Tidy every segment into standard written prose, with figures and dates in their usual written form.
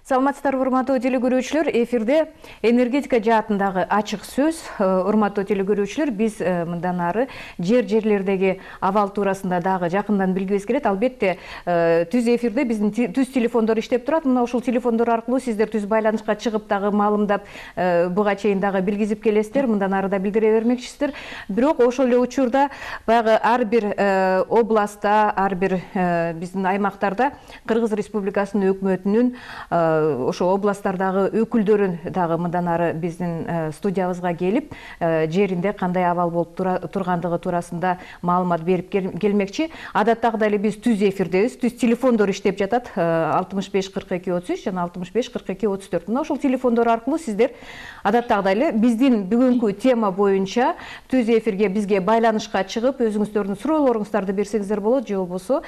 Саламатсыздарбы, урматтуу телекөрүүчүлөр, эфирде энергетика жаатындагы ачык сөз. Урматтуу телекөрүүчүлөр, биз мындан ары жерлердеги абал туурасында дагы жакындан билгибиз келет. Албетте, түз эфирде биздин түз телефондор иштеп турат. Мына ушул телефондор аркылуу сиздер түз байланышка чыгып дагы маалымдап, буга чейин дагы билгизип келесиздер. Мындан ары да билдире бермекчисиздер. Бирок ошол эле учурда баягы ар бир областта, ар бир биздин аймактарда Кыргыз Республикасынын өкмөтүнүн ошо областтардагы өкүлдөрүн дагы мындан ары биздин студиябызга келип, жеринде кандай абал болуп тургандыгы туурасында маалымат берип келмекчи. Адаттагыдай эле биз түз эфирдебиз. Түз телефондор иштеп жатат. 65 42 33 жана 65 42 34. Мына ошол телефондор аркылуу сиздер адаттагыдай эле биздин бүгүнкү тема боюнча түз эфирге бизге байланышка чыгып, өзүңүздөрдүн суроолоруңуздарды берсеңиздер болот, же болбосо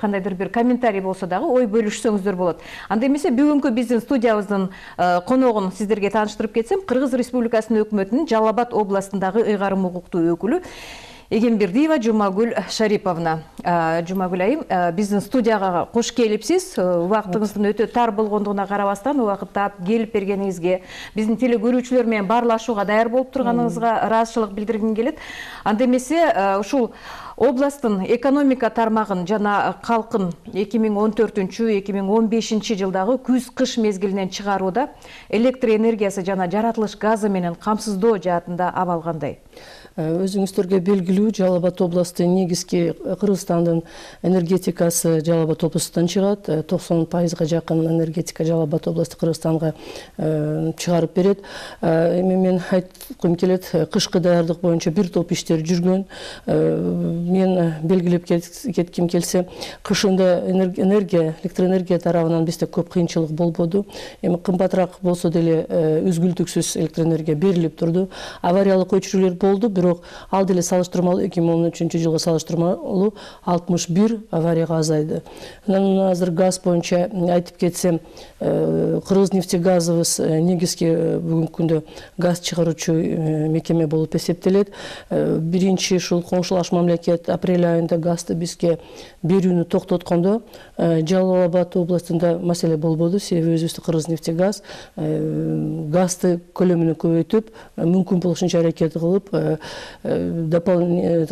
кандайдыр бир комментарий болсо дагы ой бөлүшсөңүздөр болот. Анда эмесе бүгүнкү биздин студиябыздын коногун сиздерге тааныштырып кетсем, Кыргыз Республикасынын өкмөтүнүн Жалал Абад областындагы ыйгарым укуктуу өкүлү Эгембердиева Жумагүл Шариповна. Жумагүл айым, биздин студияга кош келипсиз. Убактыңыздын өтө тар болгондугуна карабастан убакытта келип бергениңизге, биздин телекөрүүчүлөр менен баарлашууга даяр болуп турганыңызга ыраазычылык билдиргим келет. Анда эмесе ушул областтын экономика тармагын жана калкын 2014-2015 жылдагы күз-кыш мезгилинен чыгарууда электр энергиясы жана жаратылыш газы менен камсыздоо жаатында абал кандай? Өзүңүздөргө белгилүү, Жалал Абад областы негизги Кыргызстандын энергетикасы Жалал Абад областынан чыгат. 90% жакын энергетика Жалал Абад областы Кыргызстанга чыгарып берет. Эми мен айткым келет, кышкы даярдык боюнча бир топ иштер жүргөн. Мен белгилеп кетким келсе, кышында электроэнергия тарабынан бизде көп кыйынчылык болбоду. Эми кымбатыраак болсо деле үзгүлтүксүз электроэнергия берилип турду. Авариялык өчүрүүлөр болду, бирок ал деле салыштырмалуу 2013 жылга салыштырмалуу 61 аварияга азайды. Анан азыр газ боюнча айтып кетсем, Кыргызнефтегазыбыз негизги бүгүнкү күндө газ чыгаруучу мекеме болуп эсептелет. Биринчи ушул коңшулаш мамлекет апрель айында газды бизге берүүнү токтоткондо Жалал Абад областында маселе болбоду. Себеби өзүбүздүн Кыргызнефтегаз газды көлөмүн көбөйтүп, мүмкүн болушунча аракет кылып,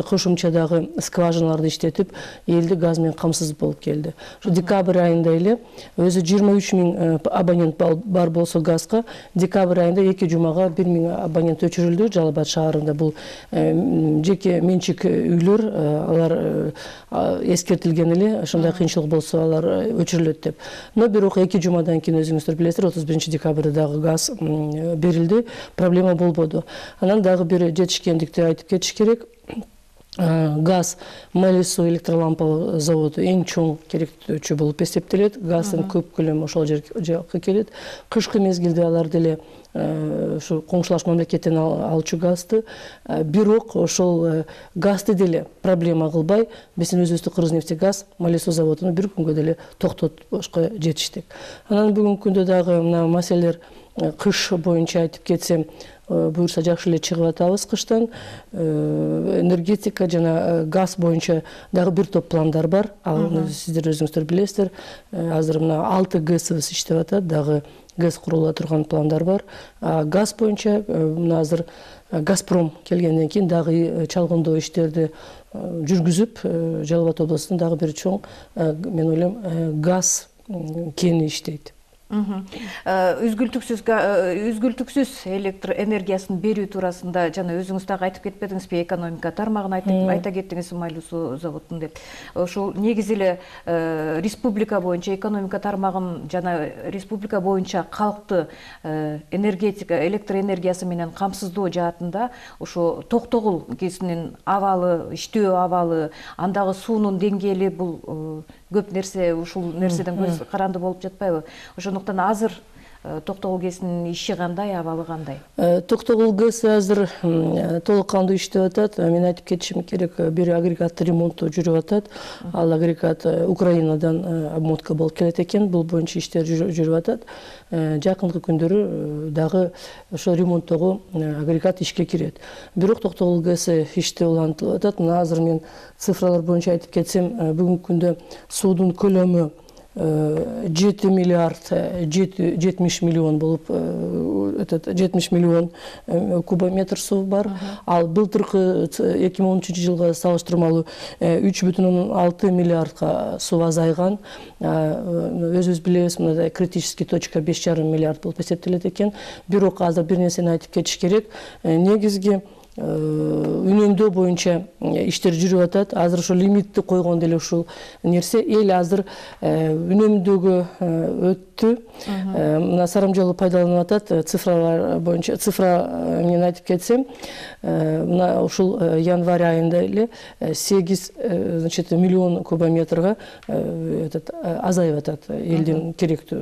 кошумчадагы скважиналарды иштетип, элди газ менен камсыз болуп келди. Ушу декабрь айында эле өзү 23 000 абонент бар болсо газга, декабрь айында 2 жумага 1 000 абонент өчүрүлдү. Жалал Абад шаарында бул жеке менчик үйлөр, алар эскертилген эле, ошондой кыйынчылык болсо алар өчүрүлөт деп. Но бирок 2 жумадан кийин өзүңүздөр билесиздер, 31 декабрда дагы газ берилди, проблема болбоду. Анан дагы бир жетишкендикти айтып кетиш керек. Газ Малису электролампалык заводу эң чоң керектөөчү болуп эсептелет. Газдын көп көлөмү ошол жерге келет. Кышкы мезгилде алар деле ушу коңшулаш мамлекеттен алчу газды, бирок ошол газды деле проблема кылбай, биздин өзүбүздүн Кыргызнефтегаз Малису заводуну бир күнгө деле токтотушка жетиштик. Анан бүгүнкү күндө дагы мына маселелер кыш боюнча айтып кетсем, буюрса жакшы эле чыгып атабыз кыштан. Энергетика жана газ боюнча дагы бир топ пландар бар. Ал сиздер өзүңүздөр билесиздер. Азыр мына 6 ГЭСыбыз иштеп атат, дагы ГЭС курула турган пландар бар. Газ боюнча мына азыр Газпром келгенден кийин дагы чалгындоо иштерди жүргүзүп, Жалал Абад областында дагы бир чоң, мен ойлойм, газ кени иштейт. Үзгүлтүксүз электр энергиясын берүү туурасында жана өзүңүз дагы айтып кетпедиңизби, экономика тармагын айта кеттиңиз, Малису заводун деп. Ошол негизи эле республика боюнча экономика тармагын жана республика боюнча калкты энергетика, электр энергиясы менен камсыздоо жаатында ошо Токтогул КЭСинин абалы, иштөө абалы, андагы суунун деңгээли, бул көп нерсе, ушул нерседен көз каранды болуп жатпайбы? Ошондуктан азыр Токтогул КЭСинин иши кандай, абалы кандай? Токтогул КЭС азыр толук кандуу иштеп атат. Мен айтып кетишим керек, бир агрегат ремонту жүрүп атат. Ал агрегат Украинадан обмотка болуп келет экен. Бул боюнча иштер жүрүп атат. Жакынкы күндөрү дагы ошо ремонттогу агрегат ишке кирет. Бирок Токтогул КЭС иште улантылып атат. Мына азыр мен цифралар боюнча айтып кетсем, бүгүнкү күндө суудун көлөмү 7 миллиард 70 миллион болуп 70 миллион кубометр суу бар. Ал былтыркы 2013 жылга салыштырмалуу 3,6 миллиардга суу азайган. Өзүбүз билебиз, мындай критический точка 5,5 миллиард болуп эсептелет экен. Бирок азыр бир нерсени айтып кетиш керек. Негизги үнөмдөө боюнча иштер жүрүп атат. Азыр ошо лимитти койгон деле ушул нерсе. Эл азыр үнөмдөгө өттү. Мына Сарамжалуу пайдаланып атат. Цифралар боюнча цифра менен айтып кетсем, мына ушул январь айында эле 8 миллион кубометрга азайып атат элдин керектүү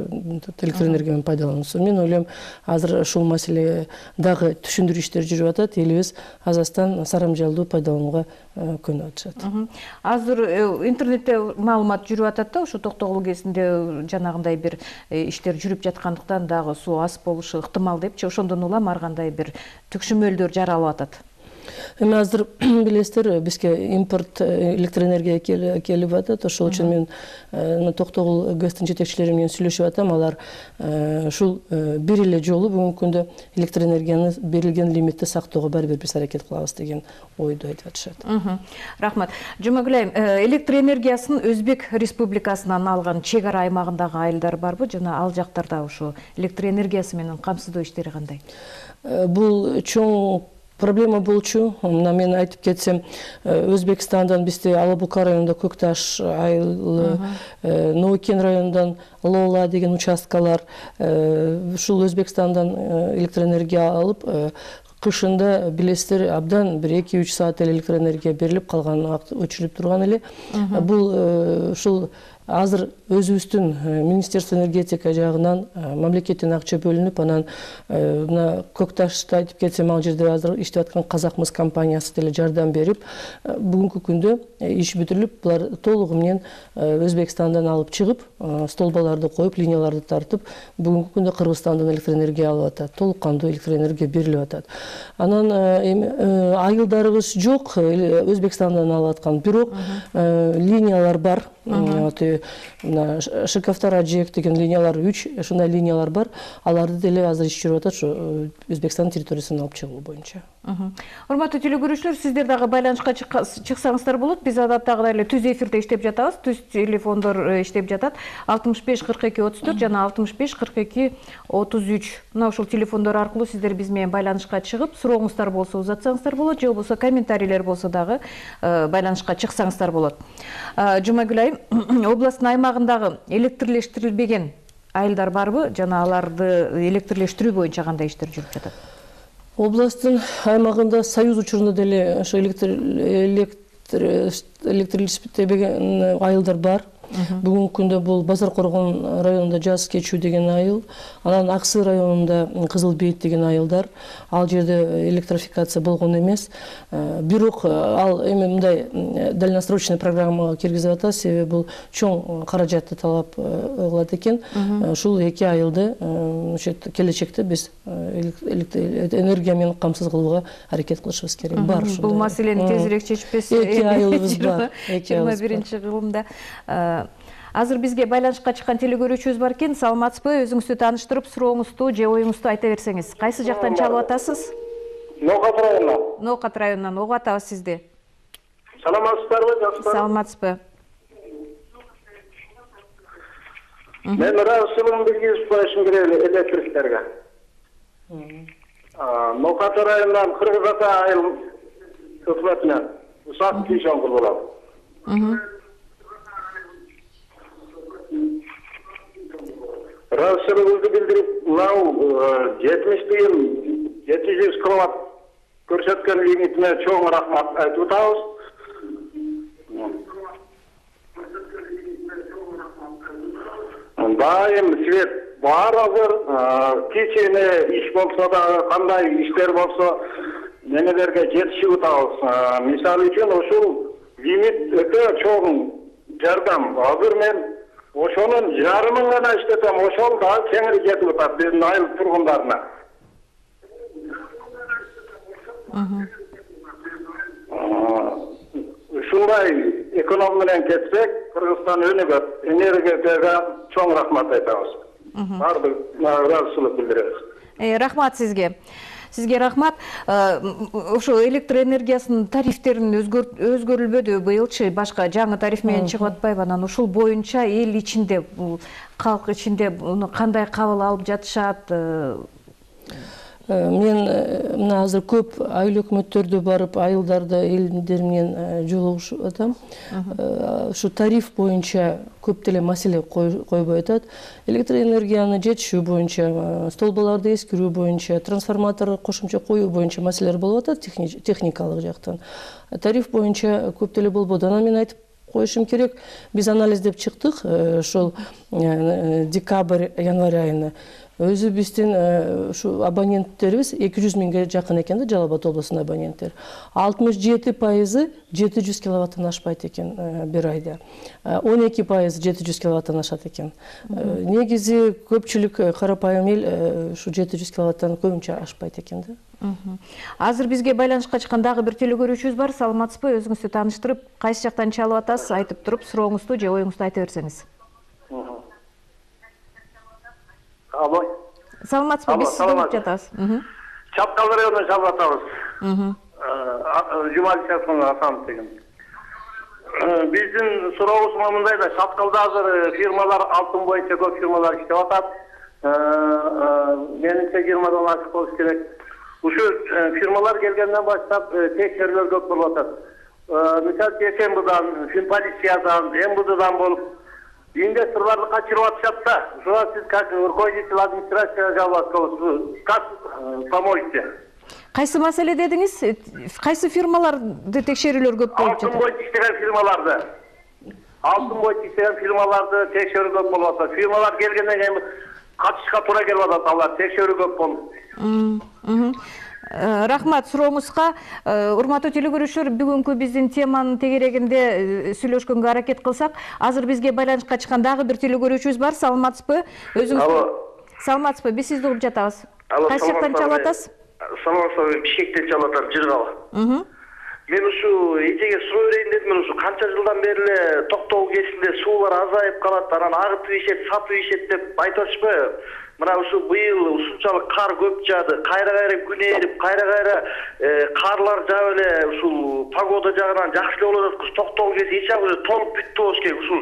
электр энергия менен пайдалануусу. Мен ойлойм, азыр ушул маселе дагы түшүндүрүү иштери жүрүп атат. Элибиз азастан Сарамжалдуу пайдаланууга көнүп атышат. Азыр интернетте маалымат жүрүп атат да, ушу Токтогул КЭСинде жанагындай бир иштер жүрүп жаткандыктан дагы суу аз болушу ыктымал депчи. Ошондон улам ар кандай бир түкшүмөлдөр жаралып атат. Эми азыр билесиздер, бизге импорт электр энергия келип атат. Ошол үчүн мен Токтогул КЭСтин жетекчилери менен сүйлөшүп атам. Алар ушул бир эле жолу бүгүнкү күндө электр энергияны берилген лимитти сактоого бир аракет кылабыз деген ойду айтып атышат. Рахмат. Жумагүл айым, электр энергиясын Өзбек Республикасынан алган чек ара аймагындагы айылдар барбы? Жана ал жактарда ушу электр энергиясы менен камсыздоо иштери кандай? Бул чоң проблема болчу. Мына мен айтып кетсем, Өзбекстандан бизде Алабука районунда Көкташ айылы, Ноукен районундан Лола деген участкалар, ушул Өзбекстандан электр энергия алып, кышында билесиздер, абдан бир 2-3 саат электр энергия берилип, калган убакыт өчүрүлүп турган эле. Бул ушул азыр өзүбүздүн Министерство энергетика жагынан мамлекеттен акча бөлүнүп, анан мына Көкташты айтып кетсем, ал жерде азыр иштеп аткан Казакмыс компаниясы деле жардам берип, бүгүнкү күндө иш бүтүрүлүп, булар толугу менен Өзбекстандан алып чыгып, столбаларды коюп, линияларды тартып, бүгүнкү күндө Кыргызстандан электр энергия алып атат, толук кандуу электр энергия берилип атат. Анан айылдарыбыз жок, Өзбекстандан алып аткан, бирок линиялар бар. Мына Шиковтар-Аджек деген линиялар 3, ушундай линиялар бар. Аларды деле азыр иш жүрүп атат, ушу Өзбекстан территориясынан алып чыгуу боюнча. Урматтуу телекөрүүчүлөр, сиздер дагы байланышка чыксаңыздар болот. Биз адаттагыдай эле түз эфирде иштеп жатабыз. Түз телефондор иштеп жатат. 65 42 34 жана 65 42 33. Мына ушул телефондор аркылуу сиздер биз менен байланышка чыгып, сурооңуздар болсо узатсаңыздар болот, же болбосо комментарийлер болсо дагы байланышка чыксаңыздар болот. Жумагүл айым, областтын аймагындагы электрлештирилбеген айылдар барбы? Жана аларды электрлештирүү боюнча кандай иштер жүрүп жатат? Областтын аймагында Союз учурунда деле ошо электрлештирилбеген айылдар бар. Бүгүнкү күндө бул Базар Коргон районунда Жаз Кечүү деген айыл, анан Аксы районунда Кызыл Бейит деген айылдар. Ал жерде электрификация болгон эмес. Бирок ал эми мындай дальносрочный программага киргизип атат, себеби бул чоң каражатты талап кылат экен. Ушул эки айылды келечекте биз энергия менен камсыз кылууга аракет кылышыбыз керек. Бар ушул. Бул маселени тезирээк чечпес. Эки айылыбыз бар. 21-жылымда. Азыр бизге байланышка чыккан телекөрүүчүбүз бар экен. Саламатсызбы? Өзүңүздү тааныштырып, сурооңузду же оюңузду айта берсеңиз. Кайсы жактан чалып атасыз? Ноокат районунан. Ноокат районунан. Угуп атабыз сизди. Саламатсыздарбы, жакшы? Саламатсызбы? Мен Расулун Билгизбаевичтин керек электриктерге. Ноокат районунан Кыргыз Ата айыл өкмөтүнөн Усак Кийшон болот. Расулуңузду билдирип, мынау 70 тыйын 700 киловатт көрсөткөн лимитине чоң рахмат айтып атабыз. Дайым свет бар азыр, кичине иш болсо да, кандай иштер болсо, немелерге жетишип атабыз. Мисалы үчүн ушул лимит өтө чоң жардам. Азыр мен ошонун жарымын гана иштетем, ошол да кеңири жетип атат биздин айыл тургундарына. Ушундай эконом менен кетсек, Кыргызстан өнүгөт. Энергетикага чоң рахмат айтабыз. Бардык ыраазычылык билдиребиз. Рахмат сизге. Сизге рахмат. Ошо электр энергиясынын тарифтерин өзгөрүлбөдү быйылчы, башка жаңы тариф менен чыгып атпайбы? Анан ушул боюнча эл ичинде, калк ичинде муну кандай кабыл алып жатышат? Мен мына азыр көп айыл өкмөттөрдө барып, айылдарда элдер менен жолугушуп атам. Ушу тариф боюнча көп деле маселе койбой атат. Электр энергияны жетишүү боюнча, столбаларды эскирүү боюнча, трансформатор кошумча коюу боюнча маселелер болуп атат техникалык жактан. Тариф боюнча көп деле болбоду. Анан мен айтып коюшум керек, биз анализдеп чыктык, ошол декабрь, январь айына. Өзү биздин ушу абоненттерибиз 200 миңге жакын экен да, Жалал Абад облусунун абоненттери. 67% 700 киловаттан ашпайт экен бир айда. 12% 700 киловаттан ашат экен. Негизи көпчүлүк карапайым эл ушу 700 киловаттан көбүнчө ашпайт экен да. Азыр бизге байланышка чыккан дагы бир телекөрүүчүбүз бар. Саламатсызбы? Өзүңүздү тааныштырып, кайсы жактан чалып атасыз, айтып туруп, сурооңузду же оюңузду айта берсеңиз. Алло. Саламатсызбы? Биз сизди угуп жатабыз. Чапкал районунан чалып атабыз. Жумалишевдин Асанов деген. Биздин сурообуз мындай да, Чапкалда азыр фирмалар алтын боюнча көп фирмалар иштеп атат. Менимче 20-дан ашык болуш керек. Ушу фирмалар келгенден баштап текшерүүлөр көп болуп атат. Мисалы СМБдан, Финполициядан, МВДдан болуп инвесторларды качырып атышат да. Ушуга сиз как руководитель администрацияга жаловать кыласыз. Как поможете? Кайсы маселе дедиңиз? Кайсы фирмаларды текшерүүлөр көп болуп жатат? Алтын боюнча иштеген фирмаларды. Алтын боюнча иштеген фирмаларды текшерүү көп болуп атат. Фирмалар келгенден кийин катышка туура келип атат, алар текшерүү көп болуп. Рахмат сурооңузга. Урматтуу телекөрүүчүлөр, бүгүнкү биздин теманын тегерегинде сүйлөшкөнгө аракет кылсак, азыр бизге байланышка чыккан дагы бир телекөрүүчүбүз бар. Саламатсызбы? Саламатсызбы? Биз сизди угуп жатабыз. Кайсы жактан чалып атасыз? Саламатсызбы? Бишкектен чалып атам, Жыргалы. Мен ушу эжеге суроо берейин дедим. Мен ушу канча жылдан бери эле Токтогул кесинде суулар азайып калат, анан агытып ишет, сатып ишет деп айтып атышпайбы? Мына ушу быйыл ушунчалык кар көп жаады, кайра күн эрип, кайра карлар жаап эле ушул погода жагынан жакшы эле болуп атат. Токтогул кеси эч уже толуп бүттү болуш керек. Ушул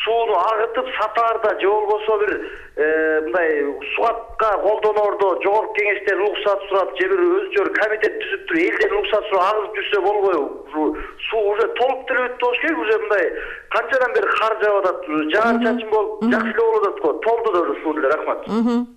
сууну агытып сатаарда же болбосо бир мындай суатка колдоноордо жогорку кеңештен уруксат сурап, же бир өзүнчө комитет түзүп туруп, элден уруксат сурап агызып жүрсө болбойбу? Суу уже толуп деле бүттү болуш керек. Уже мындай канчадан бери кар жаап атат, жаан-чачын болуп, жакшы эле болуп атат го. Толду да уже суу деле. Рахмат.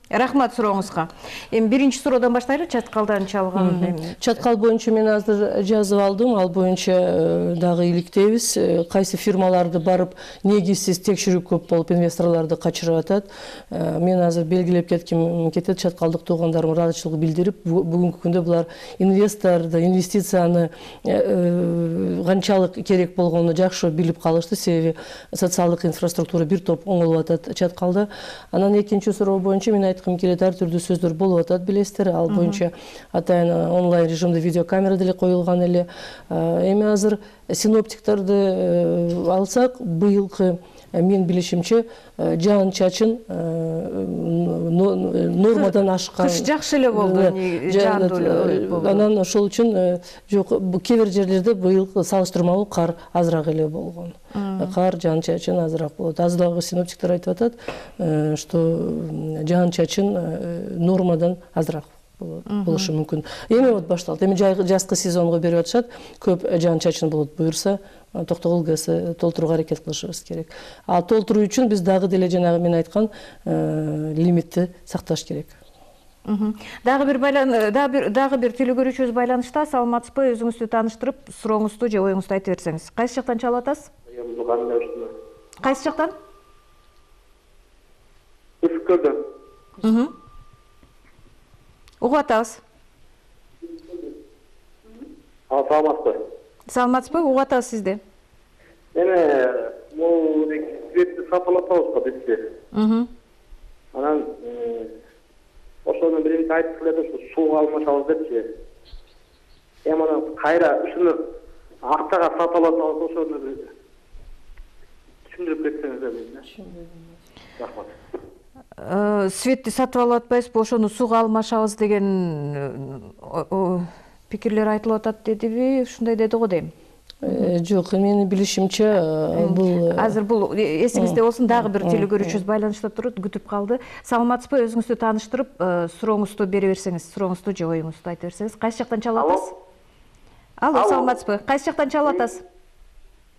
Рахмат сурооңузга. Эми биринчи суроодан баштайлы, Чаткалдан чалган. Чаткал боюнча мен азыр жазып алдым, ал боюнча дагы иликтейбиз. Кайсы фирмаларды барып, негизсиз текшерүү көп болуп, инвесторлорду качырып атат. Мен азыр белгилеп кетет, чаткалдык туугандарым ыраазычылык билдирип, бүгүнкү күндө булар инвесторду, инвестицияны канчалык керек болгонун жакшы билип калышты, себеби социалдык инфраструктура бир топ оңолуп атат Чаткалда. Анан экинчи суроо боюнча мен айткым келет, ар түрдүү сөздөр болуп атат, билесиздер. Ал боюнча атайын онлайн режимде видеокамера деле коюлган эле. Эми азыр синоптиктерди алсак, быйылкы мен билишимче жаан-чачын нормадан ашкан. Кыш жакшы эле болду, жаандуу. Анан ошол үчүн жок, кээ бир жерлерде быйыл салыштырмалуу кар азыраак эле болгон. Кар, жаан-чачын азыраак болот. Азыр дагы синоптиктер айтып атат, что жаан-чачын нормадан азыраак болушу мүмкүн. Эми вот башталды. Эми жазкы сезонго берип атышат. Көп жаан-чачын болот буюрса, Токтогул ГЭС толтурууга аракет кылышыбыз керек. А толтуруу үчүн биз дагы деле жанагы мен айткан лимитти сакташ керек. Дагы бир телекөрүүчүбүз байланышта. Саламатсызбы? Өзүңүздү тааныштырып, сурооңузду же оюңузду айтып берсеңиз. Кайсы жактан чалып атасыз? Кайсы жактан? Үскөлдөн. Угуп атабыз. Саламатсызбы? Саламатсызбы? Угуп атабыз сизди. Эми бул светти сатылып атабыз го бизчи. Анан ошону биринчи айтып эле ушу сууга алмашабыз депчи. Эми анан кайра ушуну акчага сатып атабыз, ошону түшүндүрүп кетсеңиз дейм. Рахмат. Светти сатып алып атпайсызбы, ошону сууга алмашабыз деген пикирлер айтылып атат дедиби? Ушундай деди го дейм. Жок, менин билишимче бул азыр бул эсиңизде болсун, дагы бир телекөрүүчүбүз байланышта турат, күтүп калды. Саламатсызбы? Өзүңүздү тааныштырып, сурооңузду бере берсеңиз, сурооңузду же оюңузду айта берсеңиз. Кайсы жактан чалып атасыз? Алло, саламатсызбы? Кайсы жактан чалып атасыз?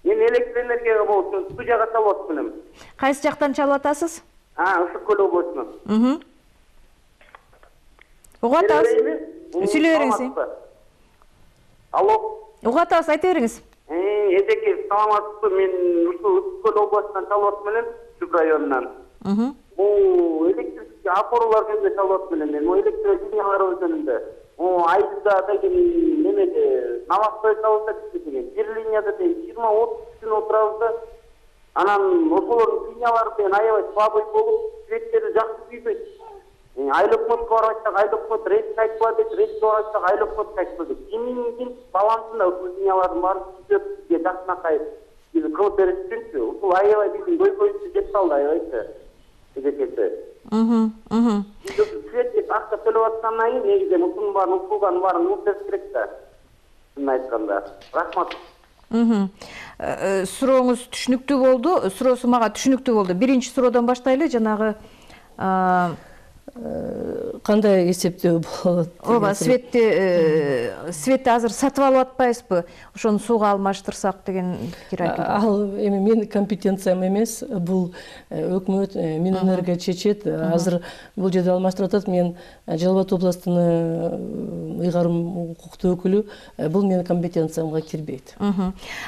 Мен электр энергияга болсун, студияга чалып атмын. Кайсы жактан чалып атасыз? Ысык көл облусунан. Угуп атабыз. Сүйлөй бериңиз. Алло. Угуп атабыз, айта бериңиз. Эжеке, саламатсызбы? Мен ушул ысык көл облусунан чалып атмын, Түп районунан. Бул электрический опоралар жөнүндө чалып атмын мен. Электр линиялар жөнүндө. Айда деген немеде намазбай чалып деген. Бир линияда 20-30 күн отурабыз да. Анан ошолордун линиялары менен аябай слабый болуп, светтери жакшы күйбөйт. Айлыкматка барачак, айлыкмат рейс айтпа дейт, рейс барачак, айлыкмат айтпа дейт. Кимиңдин балансында ушул линиялардын баары түзөп, бизге жакшынакай кылып бериш үчүнчү. Ушул аябай биздин көйгөйүбүздү жеп калды аябайчы. Эжекеси. Свет акча төлөп аткандан кийин негизи ушунун баарын, ушулган баарын унутуш керек да. Шынын айтканда. Рахмат. Сурооңуз түшүнүктүү болду. Суроосу мага түшүнүктүү болду. Биринчи суроодон баштайлы, жанагы кандай эсептөө болот? Ооба, светти азыр сатып алып атпайсызбы? Ошону сууга алмаштырсак деген пикир айтылды. Ал эми менин компетенциям эмес, бул өкмөт, Минэнерго чечет. Азыр бул жерде алмаштырып атат. Мен Жалал Абад областынын ыйгарым укуктуу өкүлү, бул менин компетенциямга кирбейт.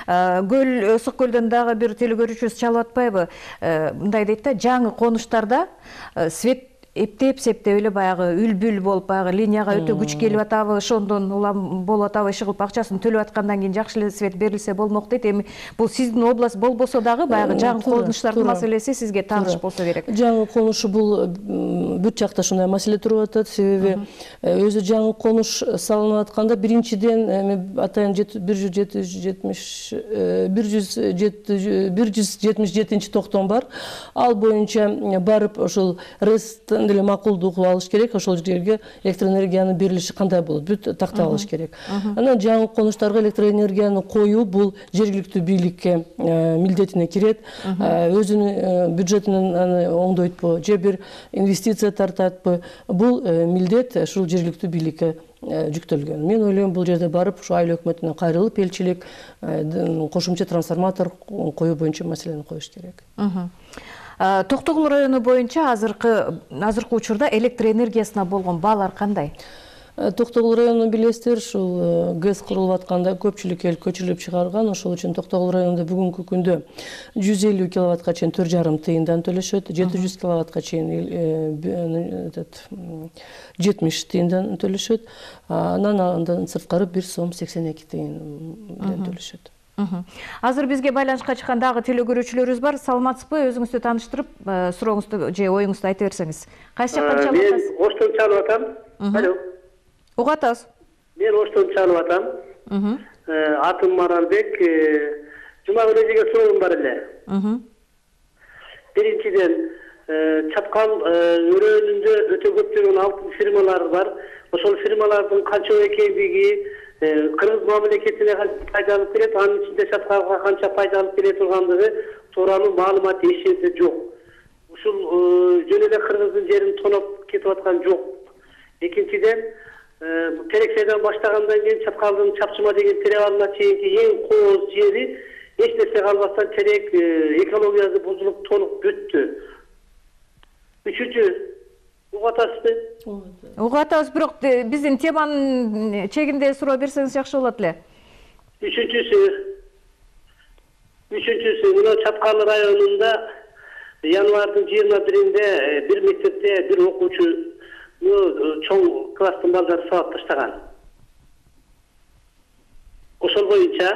Ысык көлдөн дагы бир телекөрүүчүбүз чалып атпайбы? Мындай дейт да, жаңы конуштарда свет эптеп-септеп эле баягы үл-бүл болуп, баягы линияга өтө күч келип атабы, ошондон улам болуп атабы, иши кылып акчасын төлөп аткандан кийин жакшы эле свет берилсе болмок дейт. Эми бул сиздин область болбосо дагы баягы жаңы конуштардын маселеси сизге тааныш болсо керек. Жаңы конушу бул бүт жакта ушундай маселе туруп атат. Себеби өзү жаңы конуш салынып атканда биринчиден эми атайын 177 токтом бар. Ал боюнча барып ошол ресттен деле макулдук алыш керек. Ошол жерге электроэнергиянын берилиши кандай болот, бүт тактап алыш керек. Анан жаңы конуштарга электроэнергияны коюу бул жергиликтүү бийликке милдетине кирет. Өзүнүн бюджетинен аны оңдойтпу же бир инвестиция тартатпы, бул милдет ушул жергиликтүү бийликке жүктөлгөн. Мен ойлойм, бул жерде барып ушу айыл өкмөтүнө кайрылып элчилик кошумча трансформатор коюу боюнча маселени коюш керек. Токтогул району боюнча азыркы учурда электр энергиясына болгон баалар кандай? Токтогул районун билесиздер, ушул ГЭС курулуп атканда көпчүлүк эл көчүрүлүп чыгарган. Ошол үчүн Токтогул районунда бүгүнкү күндө 150 киловаттка чейин 4,5 тыйындан төлөшөт, 700 киловаттка чейин 70 тыйындан төлөшөт. Андан сырткары 1 сом 82 тыйындан төлөшөт. Азыр бизге байланышка чыккан дагы телекөрүүчүлөрүбүз бар. Саламатсызбы? Өзүңүздү тааныштырып, сурооңузду же оюңузду айта берсеңиз. Кайсы жактан чалып атасыз? Мен Оштон чалып атам. Алло. Угуп атабыз. Мен Оштон чалып атам. Атым Маралбек. Жума күнү эжеге суроом бар эле. Биринчиден, чаткал өрөөнүндө өтө көптөгөн алтын фирмалар бар. Ошол фирмалардын канча экендиги, Кыргыз мамлекетине канча пайда алып келет, анын ичинде чаткалга канча пайда алып келе тургандыгы тууралуу маалымат эч жерде жок. Ушул жөн эле Кыргыздын жерин тоноп кетип аткан жок. Экинчиден, Терексейден баштагандан кийин Чаткалдын Чапчыма деген перевалына чейинки эң кооз жери эч нерсе калбастан терек экологиясы бузулуп толук бүттү. Үчүнчү, угуп атасызбы? Угуп атабыз, бирок биздин теманын чегинде суроо берсеңиз жакшы болот эле. Үчүнчүсү, мына Чаткал районунда январдын 21-inde бир мектепте бир окуучу чоң класстын балдары сабап таштаган. Ошол боюнча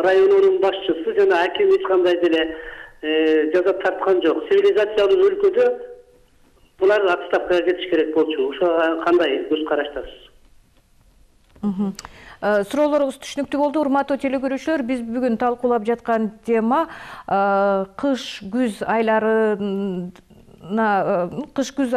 районунун башчысы жана аким эч кандай деле жаза тарткан жок. Цивилизациялуу өлкөдө булар отставкага кетиш керек болчу. Ошого кандай көз караштасыз? Суроолоруңуз түшүнүктүү болду. Урматтуу телекөрүүчүлөр, биз бүгүн талкуулап жаткан тема кыш-күз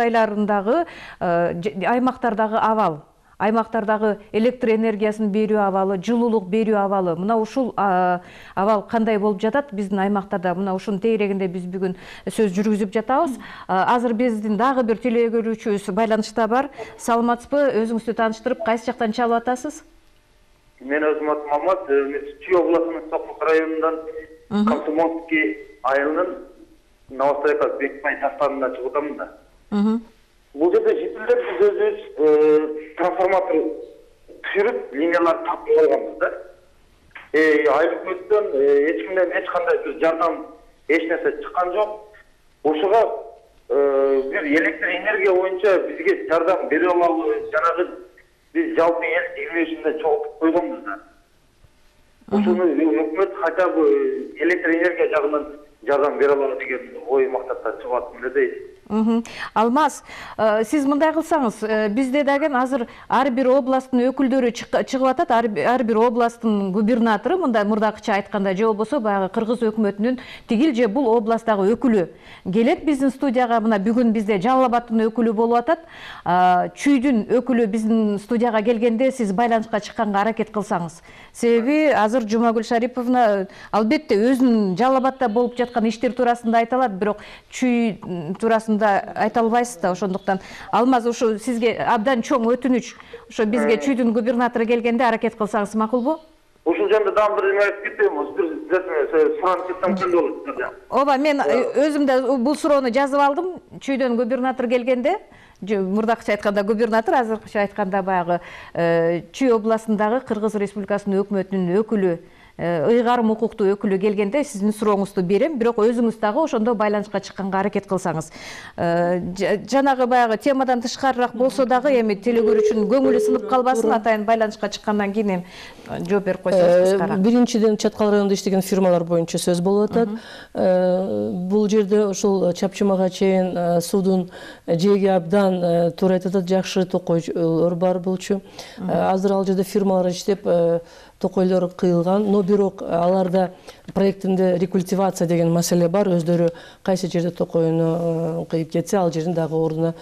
айларындагы аймактардагы абал, аймактардагы электр энергиясын берүү абалы, жылуулук берүү абалы, мына ушул абал кандай болуп жатат биздин аймактарда, мына ушунун тегерегинде биз бүгүн сөз жүргүзүп жатабыз. Азыр биздин дагы бир телекөрүүчүбүз байланышта бар. Саламатсызбы? Өзүңүздү тааныштырып, кайсы жактан чалып атасыз? Мен өзүм атым Мамат, Чүй областынын Сокмук районунан Комсомольский айылынын Новостройка Бекбай жактарынан чыгып атамын да. Бул жерде жителдер биз өзүбүз трансформатор түшүрүп, линияларды тапып алганбыз да. Айыл өкмөттөн эч кимден эч кандай бир жардам, эч нерсе чыккан жок. Ошого бир электр энергия боюнча бизге жардам бере алалы, жанагы биз жалпы эл жигмешинде чогултуп койгонбуз да. Ошону өкмөт хотя бы электр энергия жагынан жардам бере алалы деген ой мактапта чыгып атам эле дейт. Алмаз, сиз мындай кылсаңыз, бизде деген азыр ар бир областтын өкүлдөрү чыгып атат, ар бир областтын губернатору, мындай мурдакыча айтканда, же болбосо баягы кыргыз өкмөтүнүн тигил же бул областтагы өкүлү келет биздин студияга. Мына бүгүн бизде Жалал Абадтын өкүлү болуп атат. Чүйдүн өкүлү биздин студияга келгенде сиз байланышка чыкканга аракет кылсаңыз. Себеби азыр Жумагүл Шариповна албетте өзүнүн Жалал Абадта болуп жаткан иштер туурасында айта алат, бирок Чүй туурасында айта албайсыз да. Ошондуктан Алмаз, ушу сизге абдан чоң өтүнүч. Ошо бизге Чүйдүн губернатору келгенде аракет кылсаңыз макулбу? Ушул жерде дагы бир неме айтып кетем, бир суранып кетсем кандай болот? Ооба, мен өзүм да бул суроону жазып алдым. Чүйдөн губернатор келгенде, мурдакыча айтканда губернатор, азыркыча айтканда баягы Чүй областындагы Кыргыз Республикасынын өкмөтүнүн өкүлү, ыйгарым укуктуу өкүлү келгенде сиздин сурооңузду берем, бирок өзүңүз дагы ошондо байланышка чыкканга аракет кылсаңыз. Жанагы баягы темадан тышкарыраак болсо дагы эми телекөрүүчүнүн көңүлү сынып калбасын, атайын байланышка чыккандан кийин эми жооп берип койсоңуз кыскара. Биринчиден Чаткал районунда иштеген фирмалар боюнча сөз болуп атат. Бул жерде ошол Чапчымага чейин суудун жээги абдан туура айтып атат, жакшы токойлор бар болчу. Азыр ал жерде фирмалар иштеп, токойлор кыйылган, но бирок аларда проектинде рекультивация деген маселе бар. Өздөрү кайсы жерде токойуну кыйып кетсе, ал жерин дагы ордуна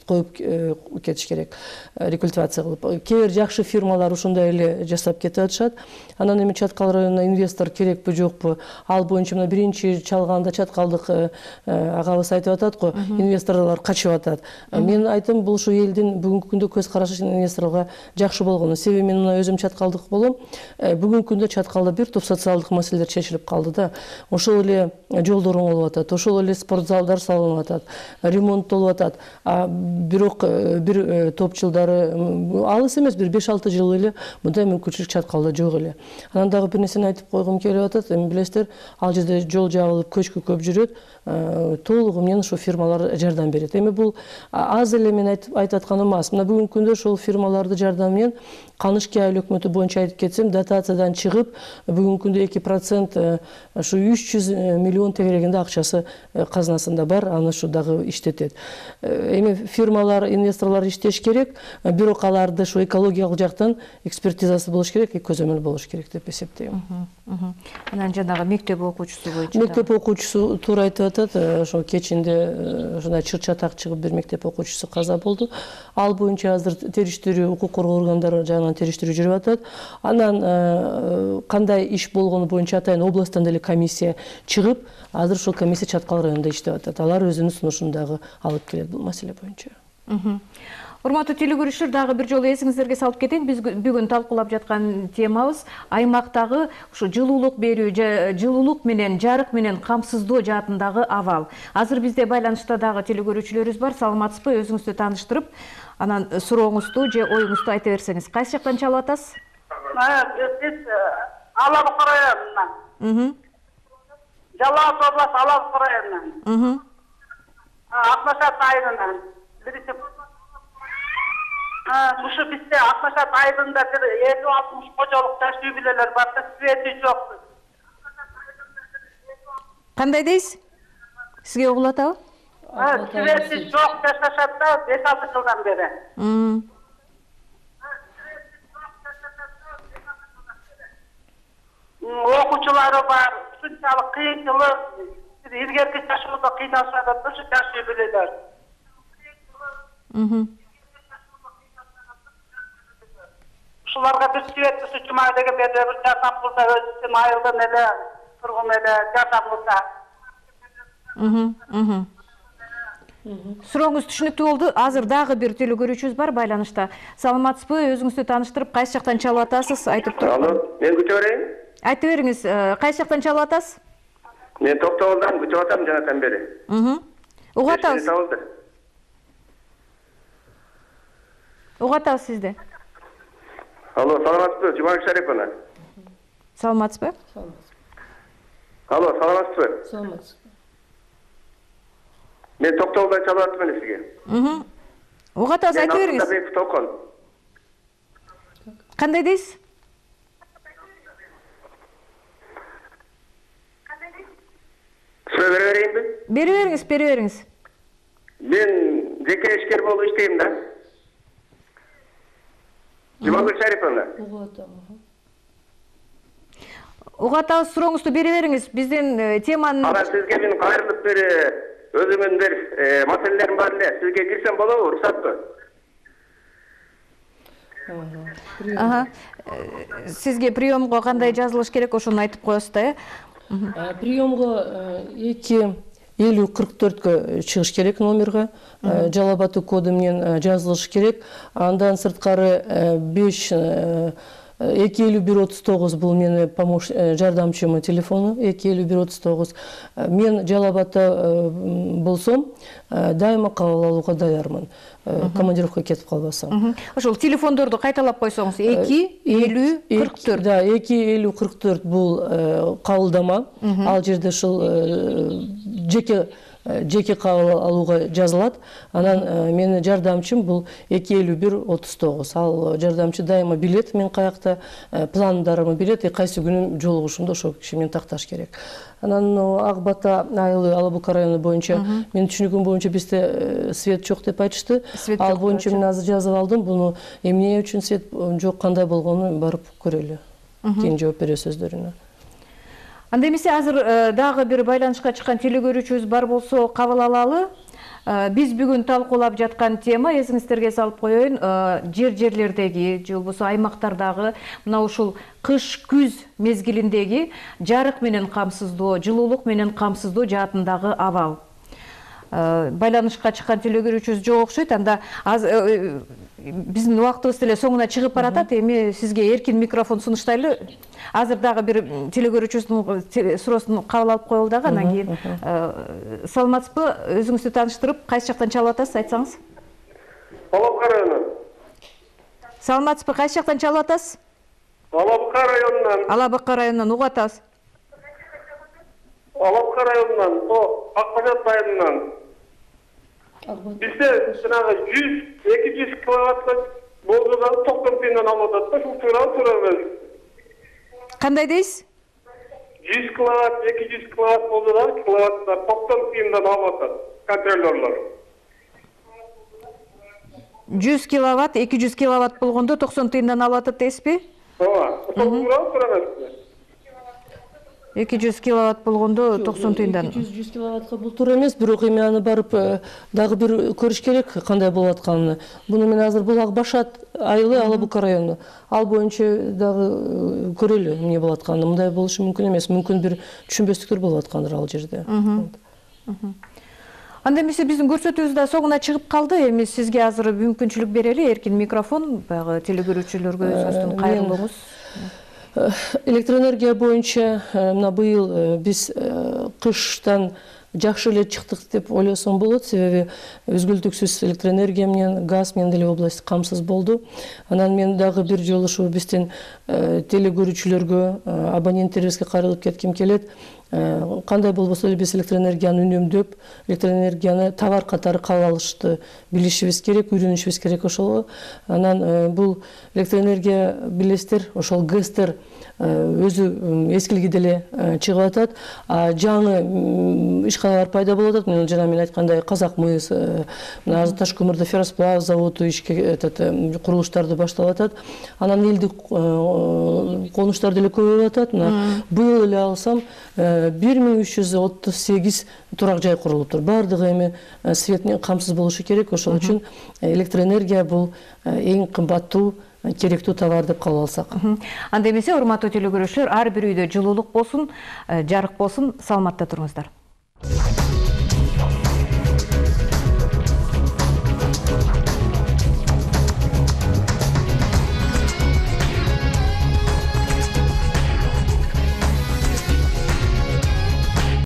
коюп кетиш керек, рекультивация кылып. Кээ бир жакшы фирмалар ушундай эле жасап кетип атышат. Анан эми Чаткал районуна инвестор керекпи жокпу? Ал боюнча мына биринчи чалганда чаткалдык агабыз айтып атат го, инвесторлор качып атат. Мен айтам, бул ушу элдин бүгүнкү күндө көз карашы инвесторлорго жакшы болгону. Себеби мен мына өзүм чаткалдык болом. Бүгүнкү күндө Чаткалда бир топ социалдык маселелер чечилип калды да. Ошол эле жолдор оңолуп атат, ошол эле спортзалдар салынып атат, ремонттолуп атат. Бирок бир топ жылдары, алыс эмес, бир 5-6 жыл эле мындай мүмкүнчүлүк Чаткалда жок эле. Анан дагы бир нерсени айтып койгум келип атат. Эми билесиздер, ал жерде жол жабылып, көчкү көп жүрөт. Толугу менен ошо фирмалар жардам берет. Эми бул аз эле мен айтып атканым эмес. Мына бүгүнкү күндө ошол фирмаларды жардам менен Канышкей айыл өкмөтү боюнча айтып кетсем, дотациядан чыгып, бүгүнкү күндө 2% ушу 300 миллион тегерегинде акчасы казынасында бар, аны ушу дагы иштетет. Эми фирмалар, инвесторлор иштеш керек, бирок аларды ушу экологиялык жактан экспертизасы болуш керек, көзөмөл болуш керек деп эсептейм. Анан жанагы мектеп окуучусу боюнча. Мектеп окуучусу туура айтып атат, ошо кечинде ушундай чыр-чатак чыгып бир мектеп окуучусу каза болду. Ал боюнча азыр териштирүү, укук коргоо органдары жагынан териштирүү жүрүп атат. Анан кандай иш болгону боюнча атайын областтан деле комиссия чыгып, азыр ошол комиссия Чаткал районунда иштеп атат. Алар өзүнүн сунушун дагы алып келет бул маселе боюнча. Урматтуу телекөрүүчүлөр, дагы бир жолу эсиңиздерге салып кетейин. Биз бүгүн талкуулап жаткан темабыз аймактагы ушу жылуулук берүү, жылуулук менен, жарык менен камсыздоо жаатындагы абал. Азыр бизде байланышта дагы телекөрүүчүлөрүбүз бар. Саламатсызбы? Өзүңүздү тааныштырып, анан сурооңузду же оюңузду айта берсеңиз. Кайсы жактан чалып атасыз? Биз Алабы районунан. Жалал Абад областы Алабы районунан. Акмашат айылынан. Ушу бизде Акмашат айылында бир 50-60 кожолук жаш үй бүлөлөр бар, свети жок. Кандай дейсиз? Сизге угулуп атабы? Свети жок, жашашат да 5-6 жылдан бери. окуучулары бар, ушунчалык кыйынчылык, илгерки жашоодо кыйналышат, ошо жашай билелер. Ушуларга бир свет ушу жума деген берде бир жардам кылса, өзү үчүн айылдан эле, тургун эле жардам кылса. Сурооңуз түшүнүктүү болду. Азыр дагы бир теле көрүүчүбүз бар байланышта. Саламатсызбы? Өзүңүздү тааныштырып, кайсы жактан чалып атасыз? Айтып туруп. Алло, мен күтүп берейин. Айтып бериңиз, кайсы жактан чалып атасыз? Мен Токтогулдан күтүп атам жанатан бери. Угуп атабыз. Угуп атабыз сизди. Алло, саламатсызбы? Жумабек Шариповна. Саламатсызбы? Алло, саламатсызбы? Саламатсыз. Мен Токтогулдан чалып аттым эле сизге. Угуп атабыз, айтып бериңиз. Кандай дейсиз? Сөз бере берейинби? Бере бериңиз. Мен жеке ишкер болуп иштейм да. Жумабек Шариповна. Угуп атабыз, сурооңузду бере бериңиз. Биздин теманын Ана сизге мен кайрылып бир өзүмдүн бир маселелерим бар эле. Сизге кирсем болобу, уруксатпы? Сизге приемго кандай жазылыш керек, ошону айтып коесуз да, э? Приемго 2-50-44 чыгыш керек номерге. Жалал Абад коду менен жазылыш керек. Андан сырткары 25139 бул менин жардамчымын телефону, 25139. Мен Жалал Абадта болсом, дайыма кабыл алууга даярмын. Командировка кетип калбасам. Ошол телефондорду кайталап койсоңуз, 2-50-44. Да, 2-50-44 бул кабылдама. Ал жерде ушул жеке кабыл алууга жазылат. Анан менин жардамчым бул 25139. Ал жардамчы дайыма билет мен каякта, пландарымды билет, кайсы күнү жолугушумду ошол киши менен такташ керек. Анан Ак Бата айылы Алабука району боюнча менин түшүнүгүм боюнча бизде свет жок деп айтышты. Ал боюнча мен азыр жазып алдым. Буну эмне үчүн свет жок, кандай болгонун барып көрөлү. Кийин жооп бересиз өздөрүнө. Анда эмесе азыр дагы бир байланышка чыккан теле көрүүчүбүз бар болсо кабыл алалы. Биз бүгүн талкуулап жаткан тема, эсиңиздерге салып коеюн, жерлердеги же болбосо аймактардагы мына ушул кыш-күз мезгилиндеги жарык менен камсыздоо, жылуулук менен камсыздоо жаатындагы абал. Байланышка чыккан теле көрүүчүбүз жок окшойт. Анда биздин убактыбыз деле соңуна чыгып баратат. Эми сизге эркин микрофон сунуштайлы. Азыр дагы бир теле көрүүчүбүздүн суроосун кабыл алып коелу дагы. Андан кийин саламатсызбы? Өзүңүздү тааныштырып, кайсы жактан чалып атасыз, айтсаңыз? Алабука району. Саламатсызбы? Кайсы жактан чалып атасыз? Алабука районунан. Алабука районунан угуп атабыз. Алабука районунан, Акбажат районунан. Бизде жанагы 100-200 киловаттка болжоган 90 тыйындан алып атат да, ушул туура эмес. Кандай дейсиз? 100 киловатт, 200 киловатт болжоган киловаттар 90 тыйындан алып атат контролёрлор. 100 киловатт, 200 киловатт болгондо 90 тыйындан алып атат дейсизби? Ооба, ошол туура эмес. 200 киловатт болгондо 90 тыйындан. 200 киловаттка бул туура эмес, бирок эми аны барып дагы бир көрүш керек кандай болуп атканын. Буну мен азыр бул Акбашат айылы Алабука району. Ал боюнча дагы көрөлү эмне болуп атканын. Мындай болушу мүмкүн эмес. Мүмкүн бир түшүнбөстүктөр болуп аткандыр ал жерде. Анда эмесе биздин көрсөтүүбүз да соңуна чыгып калды. Эми сизге азыр мүмкүнчүлүк берели, эркин микрофон баягы теле көрүүчүлөргө өзүңүздүн кайрылууңуз. Электроэнергия боюнча мына быйыл биз кыштан жакшы эле чыктык деп ойлосом болот, себеби үзгүлтүксүз электроэнергия менен, газ менен деле область камсыз болду. Анан мен дагы бир жолу ушу биздин теле көрүүчүлөргө, абоненттерибизге кайрылып кетким келет. кандай болбосо эле биз электроэнергияны үнөмдөп, электроэнергияны товар катары кабыл алышты билишибиз керек, үйрөнүшүбүз керек ошого. Анан бул электроэнергия билесиздер, ошол ГЭСтер өзү эскилиги деле чыгып атат. Жаңы ишканалар пайда болуп атат. Жана мен айткандай Казак мыс, Таш көмүрдө ферросплав заводу ишке курулуштарды баштап атат. Анан элдик конуштар деле көбөйүп атат. Быйыл эле алсам 1338 турак жай курулуптур. Бардыгы эми свет менен камсыз болушу керек. Ошол үчүн электроэнергия бул эң кымбаттуу керектүү товар деп кабыл алсак. Анда эмесе, урматтуу телекөрүүчүлөр, ар бир үйдө жылуулук болсун, жарык болсун, саламатта туруңуздар.